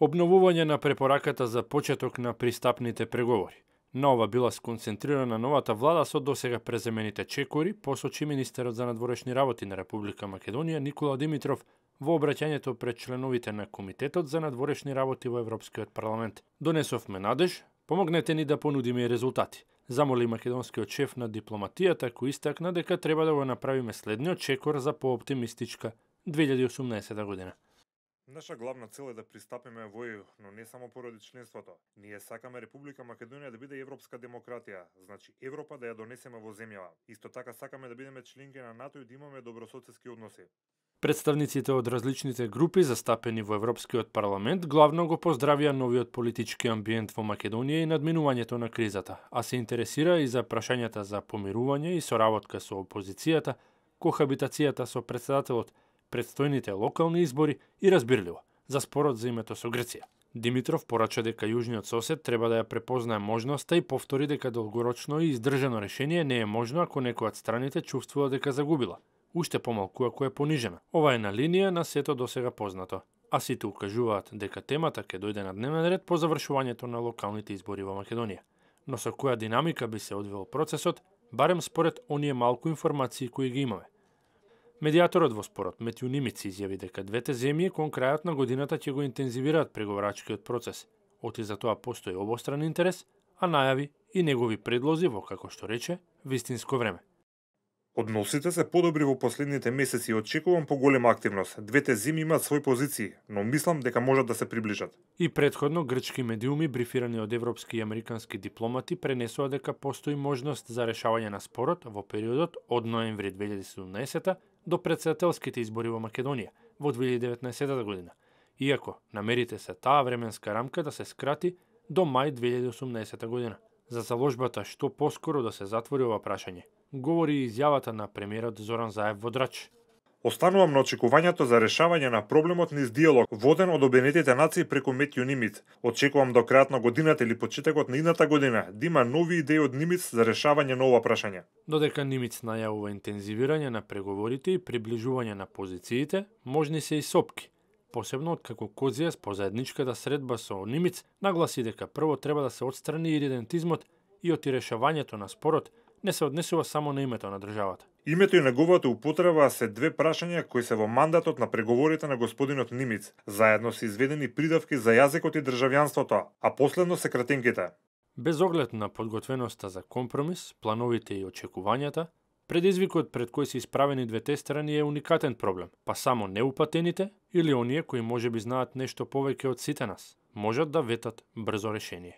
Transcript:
Обновување на препораката за почеток на пристапните преговори. На ова била сконцентрирана новата влада со досега преземените чекори, посочи министерот за надворешни работи на Република Македонија Никола Димитров во обраќањето пред членовите на Комитетот за надворешни работи во Европскиот парламент. Донесовме надеж, помогнете ни да понудиме и резултати. Замоли македонскиот шеф на дипломатијата, кој истакна дека треба да го направиме следниот чекор за пооптимистичка 2018 година. Наша главна цел е да пристапиме во ЕУ, но не само поради членството. Ние сакаме Република Македонија да биде европска демократија, значи Европа да ја донесеме во земјава. Исто така сакаме да бидеме членки на НАТО и да имаме добрососедски односи. Представниците од различните групи застапени во Европскиот парламент главно го поздравија новиот политички амбиент во Македонија и надминувањето на кризата, а се интересира и за прашањата за помирување и соработка со опозицијата, кохабитацијата со председателот, предстојните локални избори и разбирливо, за спорот за името со Грција. Димитров порача дека јужниот сосед треба да ја препознае можноста и повтори дека долгорочно и издржано решение не е можно ако некоја од страните чувствува дека загубила, уште помалку ако е понижена. Ова е на линија на сето досега познато. А сите укажуваат дека темата ќе дојде на дневен ред по завршувањето на локалните избори во Македонија. Но со која динамика би се одвил процесот, барем според оние малку информации кои ги имаме. Медијаторот во спорот Метју Нимиц изјави дека двете земји кон крајот на годината ќе го интензивираат преговарачкиот процес. Оти за тоа постои обостран интерес, а најави и негови предлози во, како што рече, вистинско време. Односите се подобри во последните месеци и очекувам поголема активност. Двете земји имаат своји позиции, но мислам дека можат да се приближат. И претходно грчки медиуми брифирани од европски и американски дипломати пренесоа дека постои можност за решавање на спорот во периодот од ноември 2017 до претседателските избори во Македонија во 2019 година, иако намерите се таа временска рамка да се скрати до мај 2018 година. За заложбата што поскоро да се затвори ова прашање, говори и изјавата на премиерот Зоран Заев во Драч. Останувам на очекувањето за решавање на проблемот низ диалог, воден од Обединетите нации преку Метју Нимиц. Очекувам до крајот на годината или почетокот на идната година да има нови идеи од Нимиц за решавање на ова прашање. Додека Нимиц најавува интензивирање на преговорите и приближување на позициите, можни се и сопки. Посебно откако Козијас по заедничката средба со Нимиц нагласи дека прво треба да се отстрани иридентизмот и оти решавањето на спорот не се однесува само на името на државата. Името и неговата употреба се две прашања кои се во мандатот на преговорите на господинот Нимиц. Заедно се изведени придавки за јазикот и државјанството, а последно се кратенките. Без оглед на подготвеноста за компромис, плановите и очекувањата, предизвикот пред кој се исправени двете страни е уникатен проблем, па само неупатените или оние кои можеби знаат нешто повеќе од сите нас, можат да ветат брзо решение.